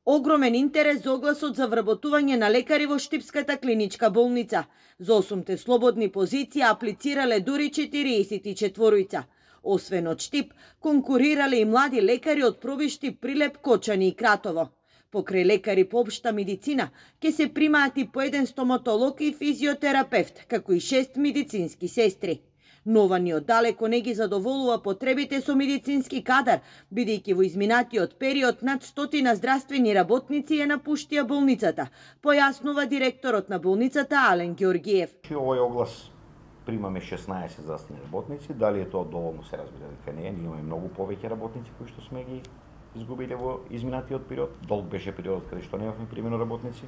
Огромен интерес за огласот за вработување на лекари во Штипската клиничка болница. За 8 слободни позиции аплицирале дури 44. Освен од Штип, конкурирале и млади лекари од Пробиштип, Прилеп, Кочани и Кратово. Покрај лекари по општа медицина, ќе се примаат и по еден стоматолог и физиотерапевт, како и 6 медицински сестри. Нова ни оддалеко не ги задоволува потребите со медицински кадар, бидејќи во изминатиот период над 100 здравствени работници ја напуштија болницата, појаснува директорот на болницата Ален Георгиев. Овој оглас примаме 16 здравствени работници, дали е тоа доволно, се разбира дека не е, ние имаме многу повеќе работници кои што сме ги изгубиле во изминатиот период. Долг беше периодот каде што немавме примено работници.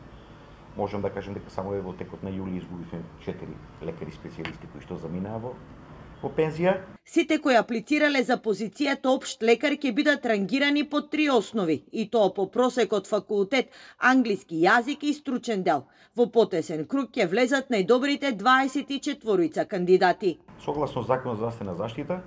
Можам да кажем дека само во текот на јули изгубивме 4 лекари специјалисти кои што заминаа во пензија. Сите кои аплицирале за позицијата општ лекар ќе бидат рангирани по 3 основи, и тоа по просек од факултет, англиски јазик и стручен дел. Во потесен круг ќе влезат најдобрите 24 кандидати. Согласно Законот за здравствена заштита,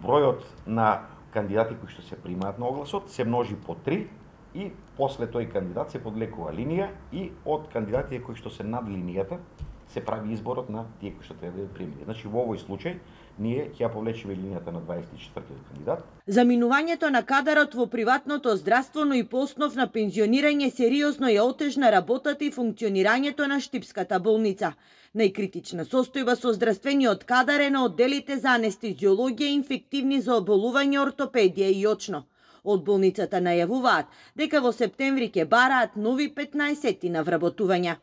бројот на кандидати кои што се примаат на огласот се множи по 3 и после тој кандидат се подлекува линија и од кандидатите кои што се над линијата се прави изборот на тие кои што треба да бидат примени. Значи во овој случај ние ќе ја повлечеме линијата на 24-тиот кандидат. Заминувањето на кадарот во приватното здравство, но и по основ на пензионирање сериозно ја отежна работата и функционирањето на Штипската болница. Најкритична состојба со здравствениот кадар е на одделите за анестезиологија и инфективни заболувања, ортопедија и очно. Од болницата најавуваат дека во септември ќе бараат нови 15 на вработувања.